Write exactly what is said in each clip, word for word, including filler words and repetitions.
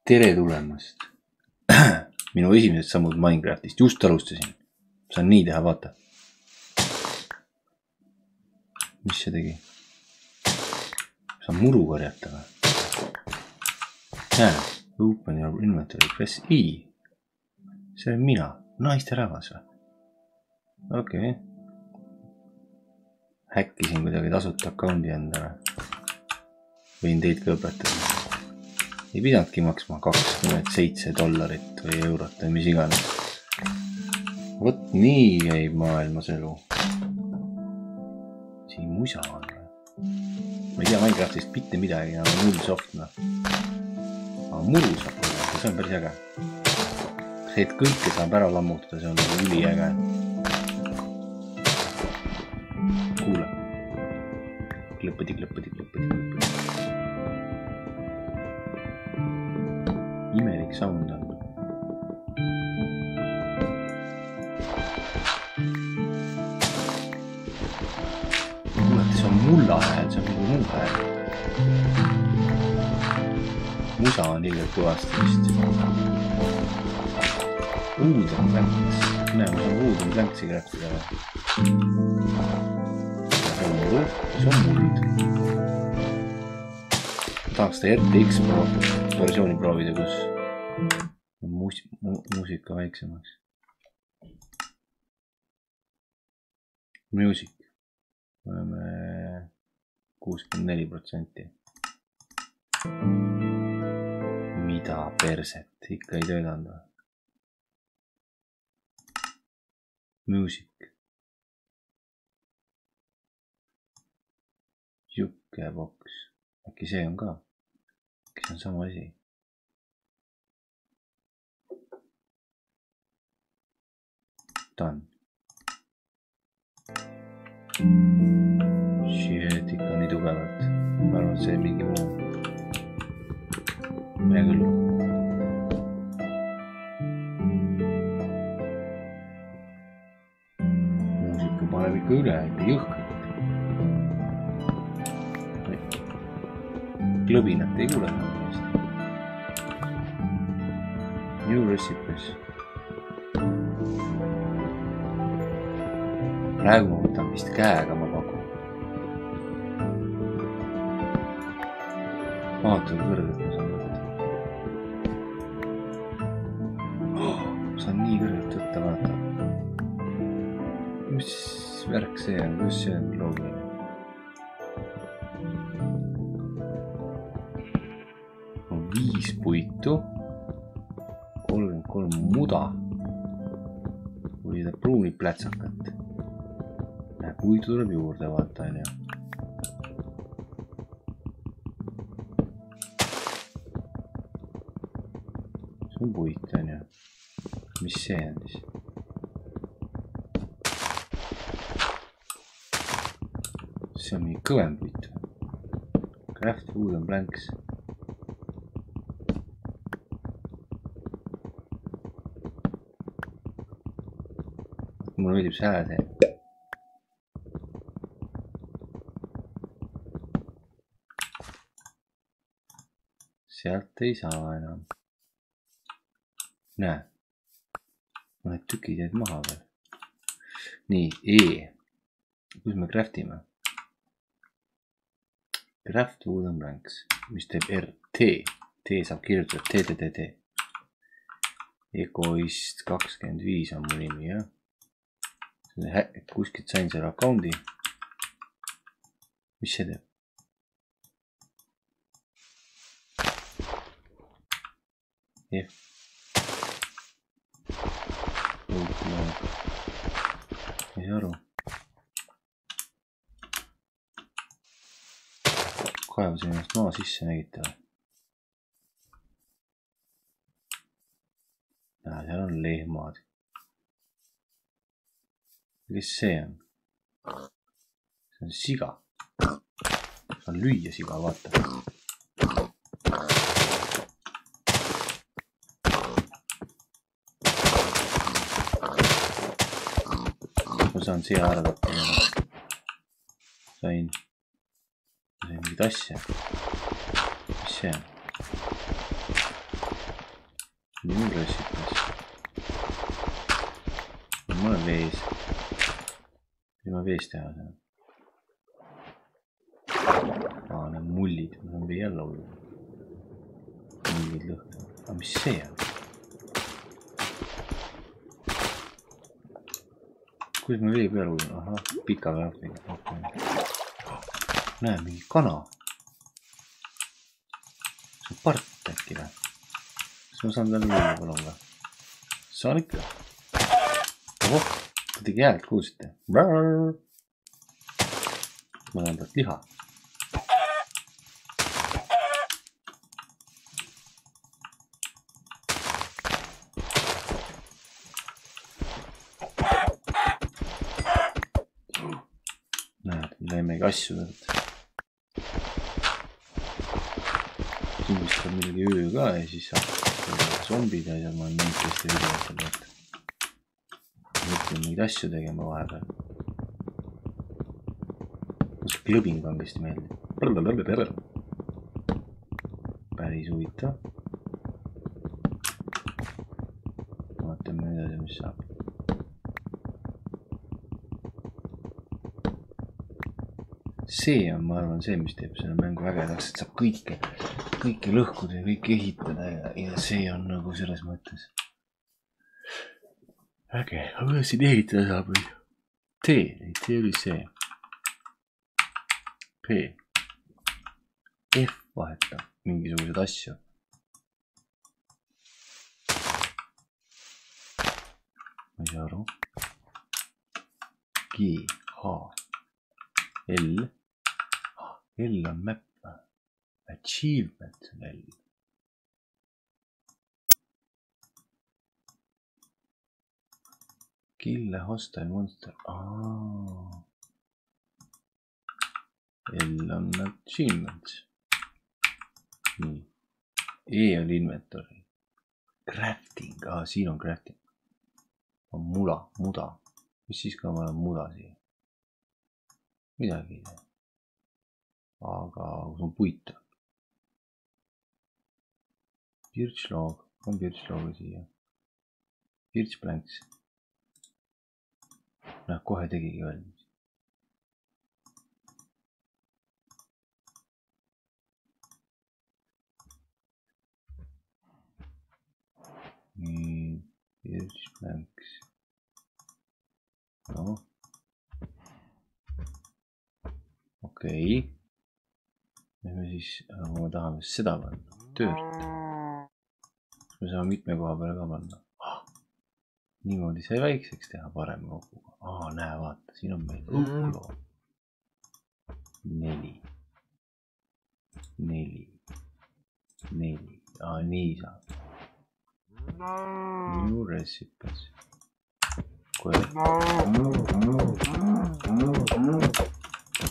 tere tulemast. Minu esimesed sammud Minecraftist. Just alustasin. Saan nii teha, vaata. Mis see tegi? Saan muru korjata või? Näe, open your inventory, press I. See on mina. Naiste rahvas või? Okei. Okay. Häkkisin kuidagi tasuta account'i endale. Võin teid ka õpetada. Ei pidanudki maksma kakskümmend seitse dollarit või eurot või mis iganes. Võt nii käib maailmas elu. Siin musa on või? Ma ei tea Minecraftist mitte midagi, aga null softna. Aga muru saab olla, see on päris äge. See, et kõike saab ära lammutada, see on üli äge. Kuule. Klõppadi, klõppadi, klõppadi, klõppadi. Imelik sound on. Kuulete, see on mulla hääl, see on mingi muu hääl. Musa on liiga kõvasti vist. Wooden Planks. Näe, ma saan Wooden Planksi kraftida. See on muld. See on muld. Tahaks ta R T X versiooni proovida, kus muus mu muusika väiksemaks. Music. Oleme kuuskümmend neli protsenti. Mida perset? Ikka ei töötanud. Music. Jukebox. Äkki see on ka? Äkki see on sama asi? Done. Shit, ikka nii tugevalt. Ma arvan, et see on mingi muu. Mine küll. Muusika paneb ikka üle, ikka jõhkalt. Klõbinat ei kuule. New recipes. Praegu ma võtan vist käega, ma pakun. Vaata, kui kõrgelt ma saan võtta. Oh, saan nii kõrgelt võtta, vaata. Mis värk see on? Kus see on loogiline? Viis puitu, kolmkümmend kolm muda või seda pruuni plätsakat. Näe, puitu tuleb juurde, vaata, on ju. See on puit, on ju. Mis see on siis? See on mingi kõvem puit. Craft Wooden Planks. Mulle meeldib see hääl see. Sealt ei saa enam. Näe. Mõned tükid jäid maha veel. Nii, E. Kus me craftime? Craft Wooden Planks. Mis teeb R? T. T saab kirjutada T, T, T, T. Egoist kakskümmend viis on mu nimi, jah? Kuskilt sain selle account'i. Mis see teeb? F. Ei saa aru. Kaevasin ennast maa sisse, nägite või? Näe, seal on lehmad. Kes see on? See on siga. Saan lüüa siga, vaata. Ma saan siia ära tappa. Sain. Sain mingit asja. Mis see on? rossikas. Ma olen vees. Mis ma vees teha saan? Aa, need mullid. Ma saan vee alla olla. Mullid lõhna. Aga mis see on? Kuidas ma vee peal uudin? Aha, pika väärtega. Okay. Näe, mingi kana. See on part äkki või? Kas ma saan talle uudin palun või? Saan ikka. Oh, kuidagi häält kuulsite. Ma saan talt liha. Lähmegi asju tõlt. Kindlasti on midagi öö ka ja siis saab zombid ja ma olen neid teiste videotel võtta. Mõtlen neid asju tegema vahepeal. Kus klõbing kangesti meeldib. Päris huvitav. Vaatame edasi, mis saab. See on, ma arvan, see, mis teeb selle mängu ägedaks, et saab kõike, kõike lõhkuda ja kõike ehitada ja, ja see on nagu selles mõttes äge. Aga kuidas siin ehitada saab või? T, ei, T oli see. P. F vahetab mingisugused asju. Ma ei saa aru. G, H, L. L on map. Achievement on L. Kill a hostile monster. Ah. L on achievement. Nii. E on inventory. Crafting. Ah, siin on crafting. On mula, muda. Mis siis, kui ma olen muda siia? Midagi ei tea. Aga kus on puit? Birch log. On birch logi siia. Birch planks. Näh, kohe tegigi valmis. Nii. Birch planks. No. Okei. Nüüd me siis, kui me tahame seda panna, töört. Me saame mitme koha peale ka panna. Oh, niimoodi sai väikseks teha parem koguga. Aa, näe, vaata, siin on meil õhkuloo. Neli. Neli. Neli. Aa, nii saab. New recipes. Kohe.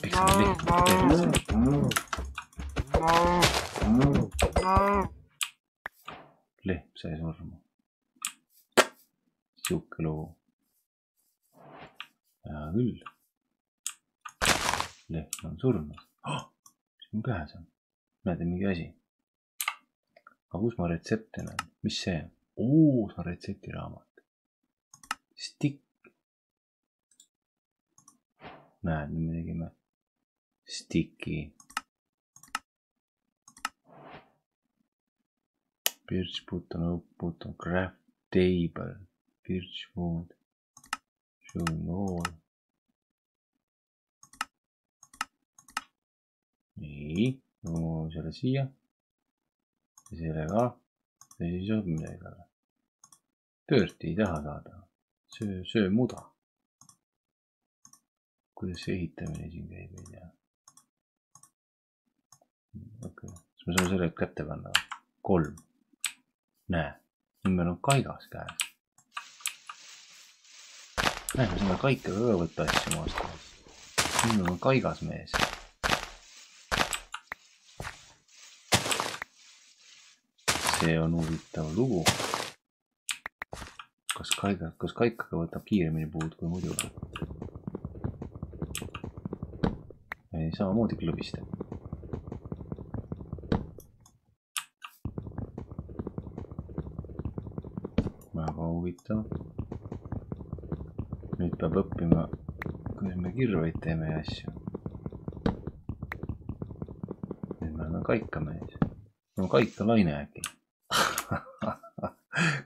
Eks me leht tervise. Leht sai surma. Siuke lugu. Hea küll. Leht on surnud. Oh, mis mul käes on? Näete mingi asi. Aga kus ma retsepte näen? Mis see on? Oo, see on retseptiraamat. Stick. Näed, nüüd me tegime sticky. Birch button, oak button, craft table, birch wood, showing all. Nii, no selle siia. Ja selle ka. Ja siis on midagi taga. Töört ei taha saada. Söö, söö muda. Kuidas see ehitamine siin käib, ei tea. Okei, siis me saame selle kätte panna. Kolm. Näe, nüüd meil on kaigas käes. Näe, me saame kaikaga ka võtta asju maast. Nüüd meil on kaigas mees. See on huvitav lugu. Kas kaiga, kas kaikaga võtab kiiremini puud kui muidu? Samamoodi klõbistab. väga huvitav. Nüüd peab õppima, kuidas me kirveid teeme ja asju. Nüüd me oleme kaikamees. No kaikalaine äkki.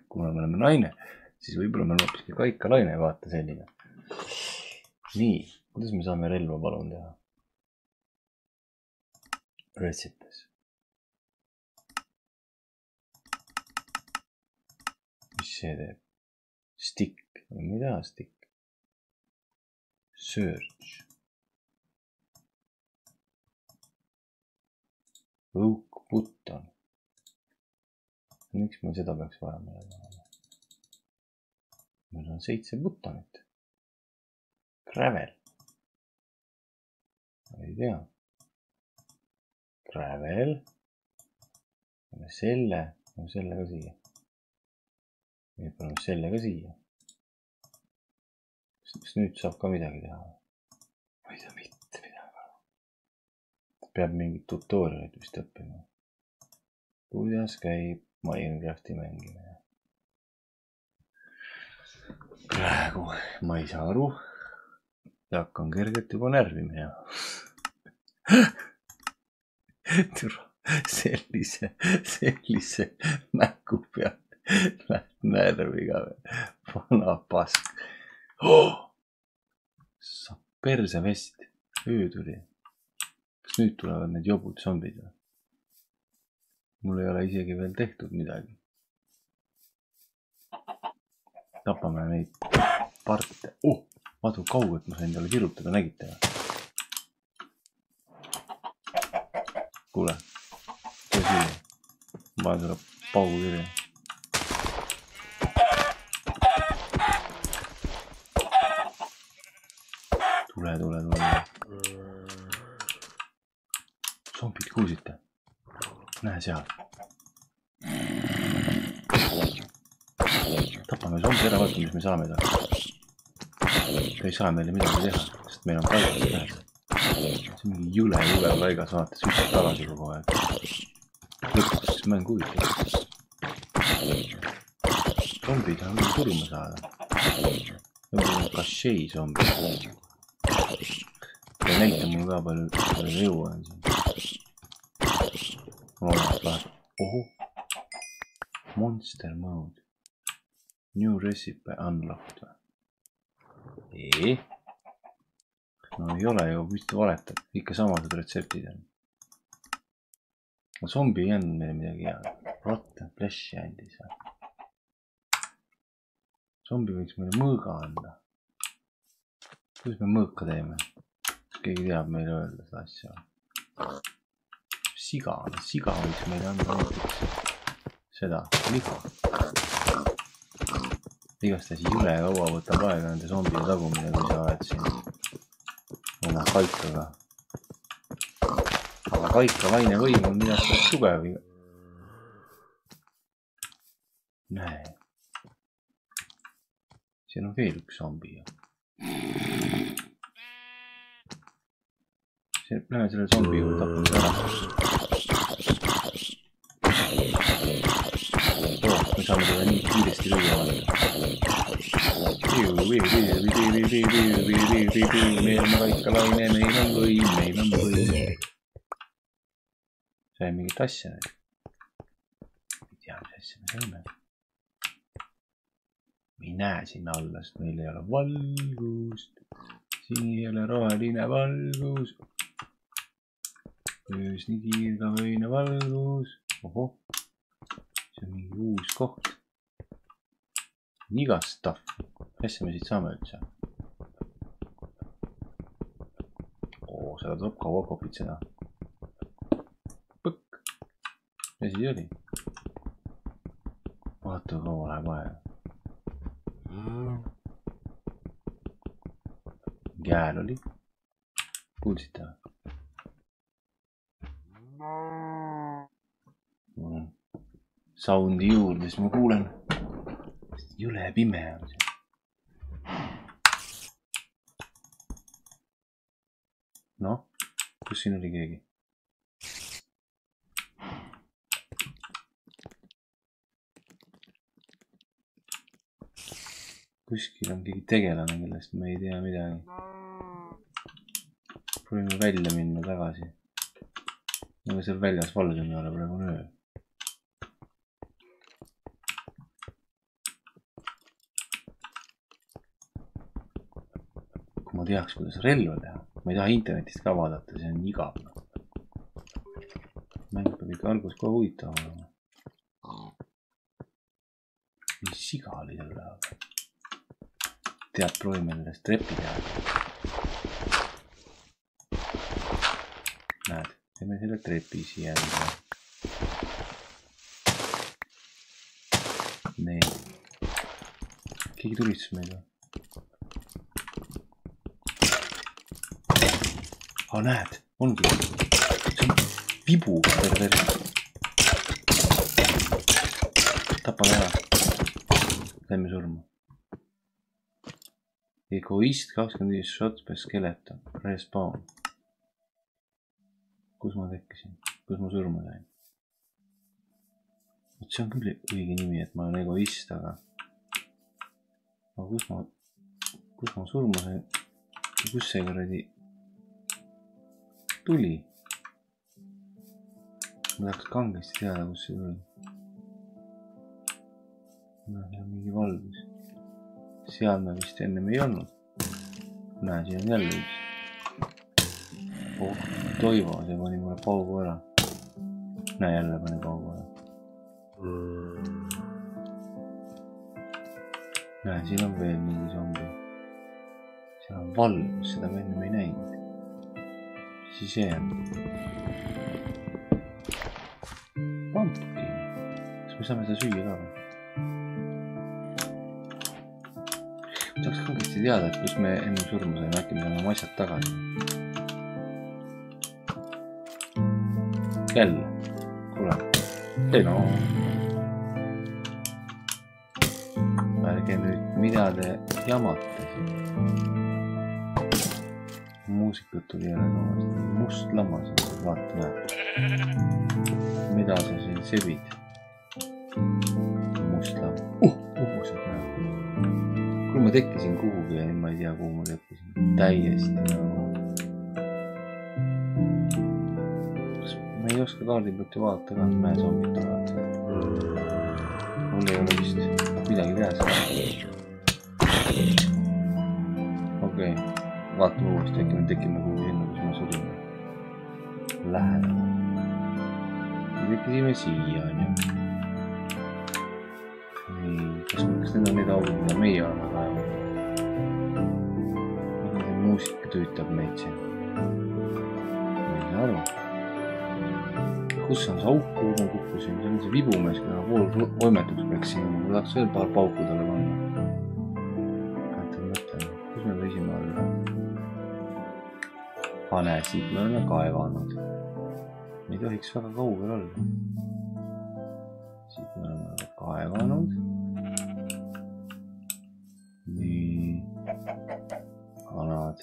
Kuna me oleme naine, siis võib-olla me oleme hoopiski kaikalaine, vaata selline. Nii, kuidas me saame relva palun teha? Recipes. Mis see teeb? Stick. Mida stick? Search. Oak button. Miks meil seda peaks vaja meile? Meil on seitse buttonit. Gravel. Ei tea. Gravel. Selle. Selle ka siia. Nüüd paneme selle ka siia. Kas nüüd saab ka midagi teha? Ma ei tea mitte midagi. Peab mingit tutorialit vist õppima. Kuidas käib Minecrafti mängimine? Praegu ma ei saa aru. Ja hakkan kergelt juba närvima ja sellise, sellise mängu pealt lähed närviga. Vana pask. Oh! Saab perse vest. Öö tuli. Kas nüüd tulevad need jobud zombid? Mul ei ole isegi veel tehtud midagi. Tapame neid parte. Oh! Vaadu kaugelt ma sain talle kirutada, nägite? Kuule. See siia. Ma panen sulle paugu kirja. Tule, tule, tule. Zombid, kuulsite? Näe seal. Tapame zombi ära, vaata, mis me saame taha. Ta ei saa meile midagi teha, sest meil on paigas tähes. See on mingi jõle, jõle paigas, vaata, sütib tagasi kogu aeg. Lõpuks mäng huvitav. Zombid on küll surma saada. Zombid on kašei zombid. Ja näita mul ka palju, palju jõu on siin. Oho. Monster mode. New recipe unlocked. Eee? No ei ole ju, vist valetad. Ikka samased retseptid on. Zombi ei andnud meile midagi hea. Rotten flash'i andis. Zombi võiks meile mõõga anda. Kuidas me mõõka teeme? Keegi teab meile öelda seda asja. Siga, siga võiks meile anda näiteks seda, liha. Igast asi jõle kaua võtab aega nende zombide tagumine, kui sa oled siin oma kaikaga. Aga kaika vaine võim on midagi tugev. Näe. Siin on veel üks zombi. Lähme selle zombi juurde tapame ära. Oh, me saame teda nii kiiresti lüüa vaadata. Meil on kaikalaine, meil on võim, meil on võim. Sai mingit asja nüüd. Ei tea, mis asja me saime. Me ei näe sinna alla, sest meil ei ole valgust. Siin ei ole roheline valgus. Öös nii kiirgavöine valgus. Oho. See on mingi uus koht. Iga stuff. Mis me siit saame üldse? Oo, seda tuleb kaua kopitseda. Põkk. Mis siis oli? Vaata, kaua läheb aega. Jääl oli. Kuulsite? Soundi juurde, siis ma kuulen. Jõle pime on see. Noh, kus siin oli keegi? kuskil on keegi tegelane, kellest me ei tea midagi. Proovime välja minna tagasi. Aga seal väljas valgem ei ole, praegu on öö. Kui ma teaks, kuidas relva teha. Ma ei taha internetist ka vaadata, see on igav. Mäng peab ikka algus kohe huvitav olema. Mis siga oli selle aga? Tead, proovime nendest trepi teha. Näed, teeme selle trepi siia. Nii. Keegi tulistas meid või? Aa, näed, ongi. See on vibu terve terve. Tapame ära. Lähme surma. Egoist kakskümmend viis shots per skeleton. Respawn. Kus ma tekkisin? Kus ma surma sain? See on küll õige nimi, et ma olen egoist, aga... Aga kus ma... Kus ma surma sain? Kus see kuradi... Tuli? Ma tahaks kangesti teada, kus see tuli. No, see on mingi valgus. Seal me vist ennem ei olnud. Näe, siin on jälle üks. Oh, Toivo, see pani mulle paugu ära. Näe, jälle pani paugu ära. Näe, siin on veel mingi zombi. Seal on valgus, seda me ennem ei näinud. Siis see on. Pumpkin. Kas me saame seda süüa ka või? Saaks kangesti teada, et kus me enne surma saime, äkki me saame oma asjad tagasi. Jälle. Kuule. Ei no. Ärge nüüd, mida te jamate siin. Muusikut tuli jälle kõvasti. Must lammas. Vaata, näed. Mida sa siin sebid? Must lammas. Uh, uhused näed. Kui ma tekkisin kuhugi ja ma ei tea, kuhu ma tekkisin. Täiesti nagu... Ma ei oska kaardi pealt ju vaadata ka, näe zombid tulevad. Mul ei ole vist midagi teha. Okei, vaatame uuesti, äkki me tekime kuhugi enne, kus ma surime. Lähedame. Me tekkisime siia, on ju. Kas, kas need on need augud, mida meie oleme kaevanud? See muusika tüütab meid siin. Ma ei saa aru. Kus on see auk, kuhu ma kukkusin? See on see vibumees, kui ma pool võimetuks peaksin. Ma tahaks veel paar pauku talle panna. Käetan mõtlen, kus me võisime olla? Pane, siit me oleme kaevanud. Me ei tohiks väga kaugel olla. Siit me oleme kaevanud. Nii, kanad,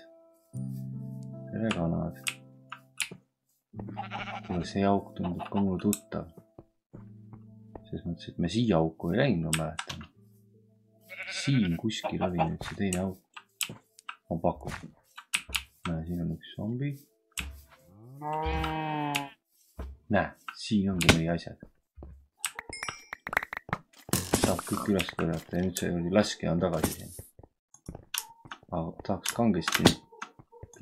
tere kanad. Kuule, see auk tundub ka mulle tuttav. Selles mõttes, et me siia auku ei läinud, ma mäletan. Siin kuskil oli nüüd see teine auk. Ma pakun. Näe, siin on üks zombi. Näe, siin ongi meie asjad. Saab kõik üles kõrjata ja nüüd see oli laske on tagasi siin. Aga tahaks kangesti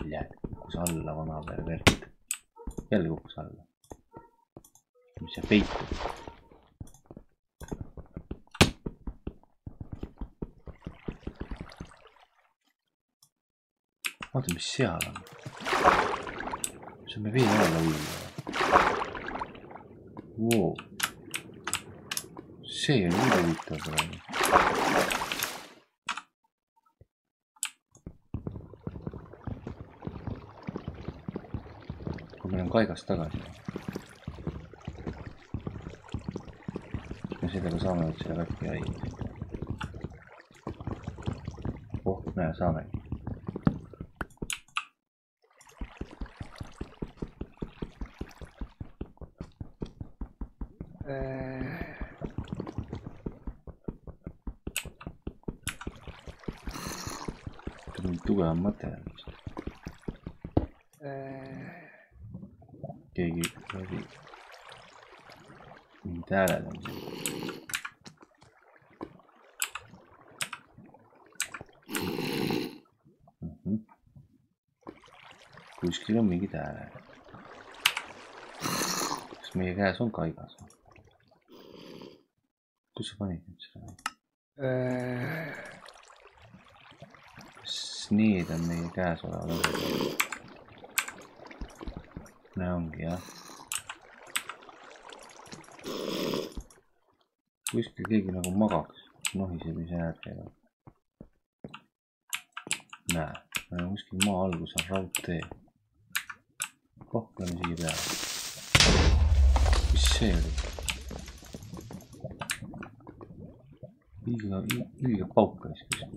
jälle kukkus alla vana pervert. Jälle kukkus alla. Mis see peitub? Vaata, mis seal on. See on me veel alla ujuda. Wow. See on nii huvitav praegu. Kui meil on kaigast tagasi. Me sellega saame nüüd selle katki haiged. Oh, näe, saamegi. võtta mingi tugevam materjal. Keegi oli mingid hääled on siin. Mm-hmm. Kuskil on mingid hääled. Kas meie käes on kaigas? Kus sa panid nüüd seda? Kas need on meie käes olevad? Näe ongi jah. Kuskil keegi nagu magaks. Nohisemise hääled käivad. Näe, kuskil maa algus on raudtee. Kohkleme siia peale. Mis see oli? Ilge, ilge paukas kuskil.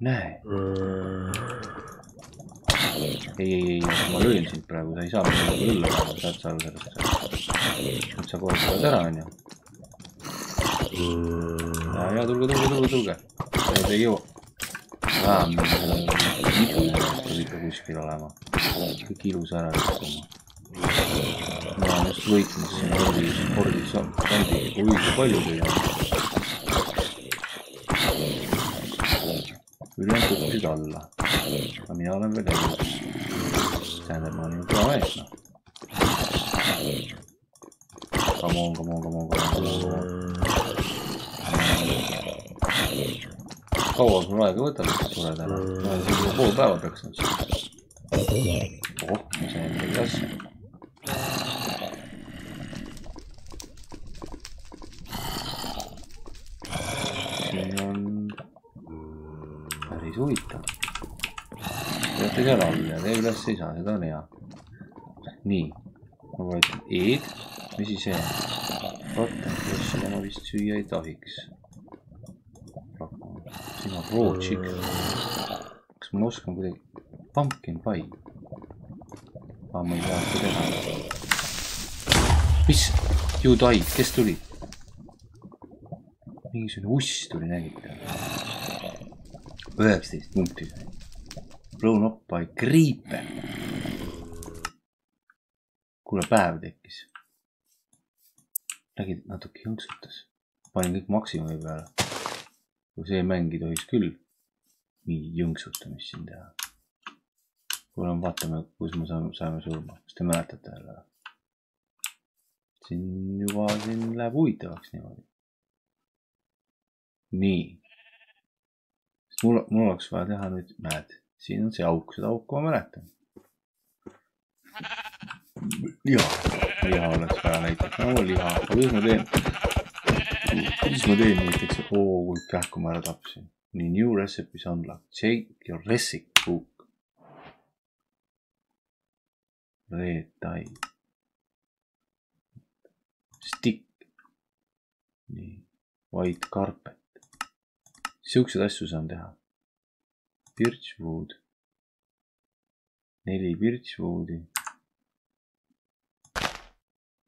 Näe. Ei, ei, ei, ma löön sind praegu, sa ei saa midagi õlla päeva, saad sa aru sellest. Nüüd sa kohe tuled ära, on ju. Ja, ja, tulge, tulge, tulge, tulge. Need ei jõua. Vähem, midagi ikka kuskil olema. Kõik ilus ära lükkuma. Ma olen just võitnud siin ordis, ordis on. Oi, kui palju teil on. Ülejäänud kukkusid alla. Aga mina olen veel elus. Tähendab, ma olen ju kõva mees, noh. Come on, come on, come on, come on, come on. Kaua sul aega võtab, et tuled ära? Ma olen siin pool päeva peaks nüüd siin. Oh, ma sain midagi asja. Siin on päris huvitav. Teate seal all ja tee üles ei saa, seda on hea. Nii, ma võetan eed. Mis siis see? Rotten flash'ile ma vist süüa ei tohiks. Siin on raw chicken. Kas ma oskan kuidagi? Pumpkin pie. Aa, ma ei saa seda teha. Mis? You died, kes tuli? Mingisugune uss tuli nägita. üheksateist punkti sai. Blown up by creeper. Kuule, päev tekkis. Nägid, natuke jõnksutas. Panin kõik maksimumi peale. Kui see mängi tohiks küll mingi jõnksutamist siin teha. Kuule, vaatame, kus me saame surma. Kas te mäletate jälle? Siin juba siin läheb huvitavaks niimoodi. Nii. Mul, mul oleks vaja teha nüüd, näed, siin on see auk, seda auku ma mäletan. Liha, liha oleks vaja näiteks, no liha, aga kuidas ma teen? Kuidas ma teen näiteks, oo, kui kähku ma ära tapsin. Nii, new recipes unlock, check your recipe book. Red tie. Stick. Nii, white carpet. Siuksed asju saan teha. Birchwood. Neli birchwoodi.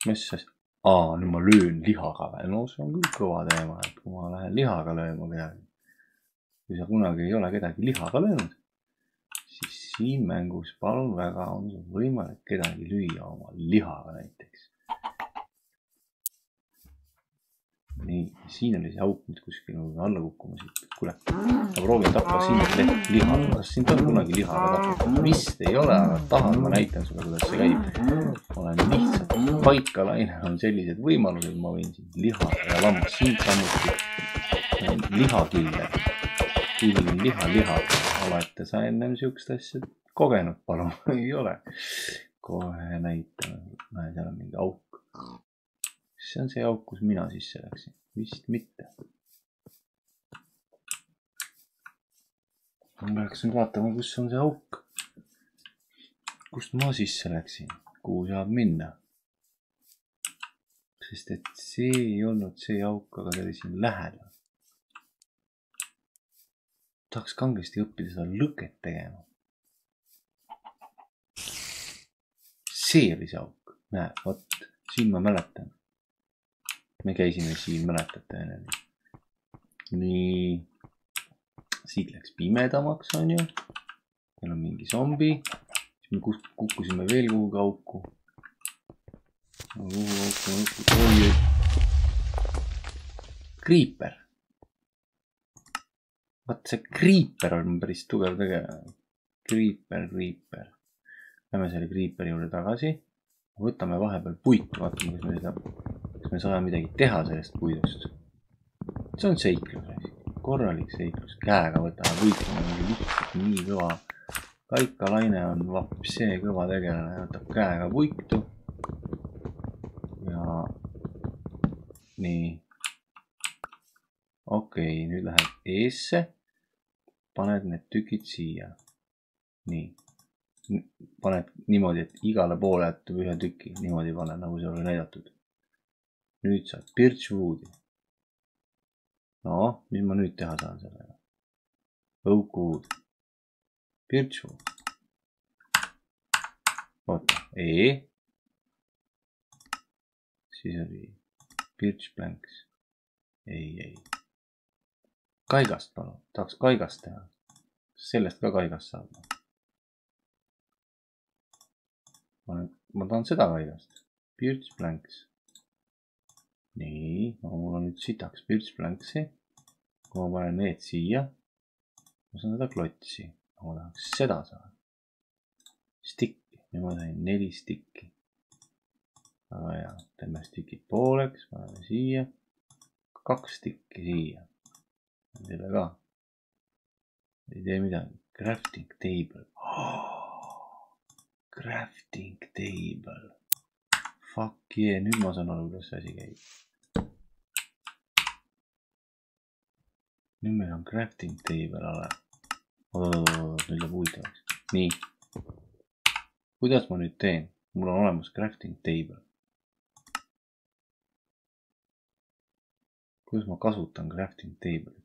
Mis see? Aa, nüüd ma löön lihaga või? No see on küll kõva teema, et kui ma lähen lihaga lööma kedagi. Kui sa kunagi ei ole kedagi lihaga löönud, siis siin mängus palun väga on võimalik kedagi lüüa oma lihaga näiteks. Nii, siin oli see auk nüüd kuskil alla kukkuma siit. Kuule, ma proovin tappa siin leht lihaga. Kas siin on kunagi lihaga tappa? Vist ei ole, aga tahan, ma näitan sulle, kuidas see käib. Ma olen lihtsalt paikalainel on sellised võimalused, ma võin siin liha ja lammas siin samuti. Lihakille. Killin liha, liha. Olete sa ennem siukest asja kogenud, palun? Ei ole. Kohe näitan. Näe, seal on mingi auk. See on see auk, kus mina sisse läksin. Vist mitte. Ma peaks nüüd vaatama, kus on see auk. Kust ma sisse läksin? Kuhu saab minna? Sest et see ei olnud see auk, aga see oli siin lähedal. Tahaks kangesti õppida seda lõket tegema. See oli see auk. Näe, vot, siin ma mäletan. me käisime siin, mäletate enne. Nii. Siit läks pimedamaks, on ju. Meil on mingi zombi. Siis me kukkusime veel kuhugi auku. Kuhu auku, auku. Creeper. Vaat see Creeper on päris tugev tegelane. Creeper, Creeper. Lähme selle Creeperi juurde tagasi. Võtame vahepeal puitu, vaatame, kas me, seda, kas me saame midagi teha sellest puidust. See on seiklus. Korralik seiklus. Käega võtame puitu. Lihtsalt nii kõva. Kaikalaine on vapsee kõva tegelane. Võtab käega puitu. Ja nii. Okei, nüüd läheb eesse. Paned need tükid siia. Nii. Paned niimoodi, et igale poole jätub ühe tüki. Niimoodi pane, nagu see oli näidatud. Nüüd saad birchwoodi. No, mis ma nüüd teha saan sellega? Oakwood. Birchwood. Oota, E. Siis oli birch planks. Ei, ei. Kaigast palun. Tahaks kaigast teha. Sellest ka kaigast saab. Ma tahan seda kaigast. Birch planks. Nii. Mul on nüüd sitaks birch planksi. Kui ma panen need siia. Ma saan seda klotsi. Ma tahaks seda saada. Stikki. Nüüd ma sain neli stikki. Aga hea. Teeme stikid pooleks. Paneme siia. Kaks stikki siia. Selle ka. Ei tee midagi. Crafting table. Oh, crafting table. Fuck yeah. Nüüd ma saan aru, kuidas see asi käib. Nüüd meil on crafting table ala. Oot, nüüd läheb huvitavaks. Nii. Kuidas ma nüüd teen? Mul on olemas crafting table. Kuidas ma kasutan crafting table'it?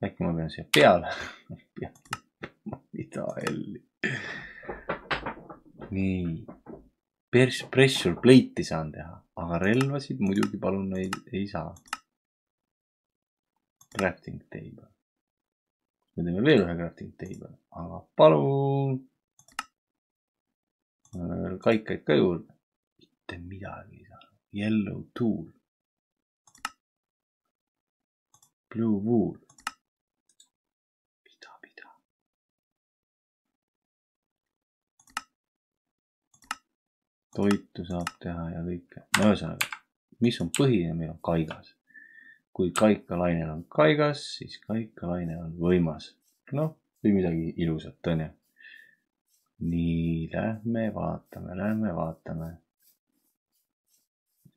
Äkki ma pean siia peale. Mida helli. Nii. Pressure plate'i saan teha. Aga relvasid muidugi palun ei, ei saa. Crafting table. Me teeme veel ühe crafting table. Aga palun. Kaikaid ka juurde. Mitte midagi ei saa. Yellow tool. Blue wool. Mida, mida. Toitu saab teha ja kõike. No ühesõnaga, mis on põhine, meil on kaigas. Kui kaikalainel on kaigas, siis kaikalaine on võimas. No, või midagi ilusat, on ju. Nii, lähme vaatame, lähme vaatame.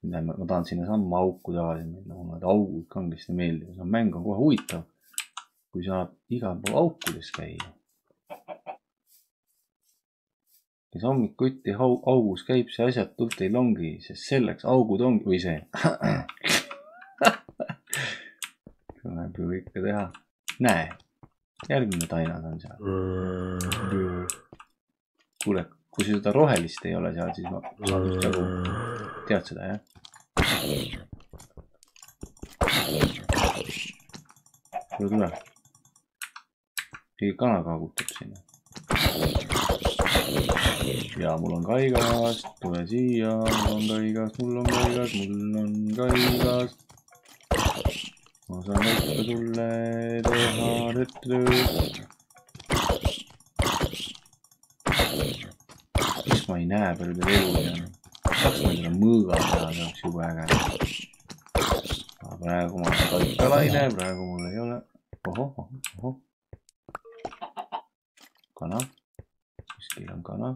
Ma tahan sinna samma auku tagasi minna, kuna need augud kangesti meeldivad. No, mäng on kohe huvitav, kui saab igal pool aukudes käia. Kes hommikuti augus käib, see asjatult ei longi, sest selleks augud ongi, või see. Tuleb ju ikka teha. Näe, järgmine tainad on seal. Kuule, kui seda rohelist ei ole seal, siis ma saan just jagu. Tead seda, jah? Tule, tule. Keegi kana kaagutab sinna. Ja mul on kaigast. Tule siia. Mul on kaigast, mul on kaigast, mul on kaigast. Ma saan ikka sulle teha tööd. Mis ma ei näe palju teil elu ja saaks ma seda mõõga teha, see oleks juba äge. Aga praegu ma olen kaikalaine, praegu mul ei ole. Oho, oho, oho. Kana. Kuskil on kana.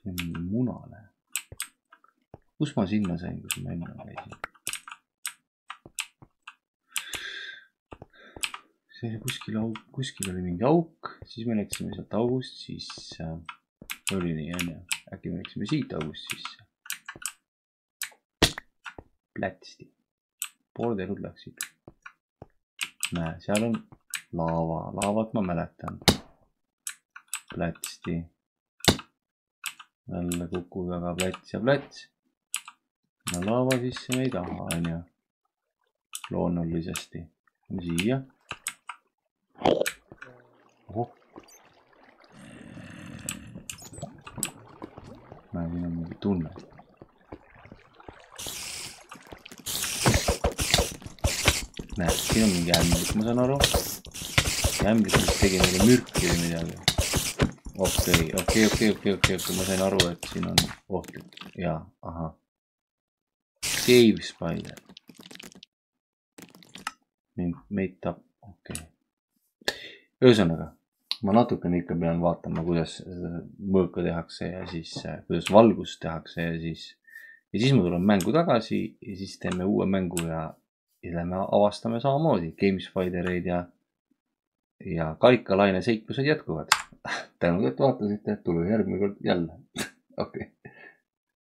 Siin on mingi munane. Kus ma sinna sain, kus ma enne käisin? See oli kuskil auk, kuskil oli mingi auk, siis me läksime sealt august, siis äh, oli nii, enne. Äkki me läksime siit august sisse. Plätsti. Pooled elud läksid. Näe, seal on laava. Laavat ma mäletan. Plätsti. jälle kuku taga plats ja plats. no laava sisse me ei taha, on ju. loonulisesti. siia. ohoh. näe, siin on mingi tunne. näe, siin on mingi ämblik, ma saan aru. ämblik, mis tegi meile mürki või midagi. okei, okei, okei, okei, okei, okei, ma sain aru, et siin on ohtlik. jaa, ahah. Cave spider. meid tap, okei okay.. ühesõnaga, ma natukene ikka pean vaatama, kuidas mõõka tehakse ja siis, kuidas valgust tehakse ja siis, ja siis ma tulen mängu tagasi ja siis teeme uue mängu ja, ja lähme avastame samamoodi Game Spidereid ja, ja karikalaine seiklused jätkuvad. tänud, et vaatasite, tule järgmine kord jälle. okei okay..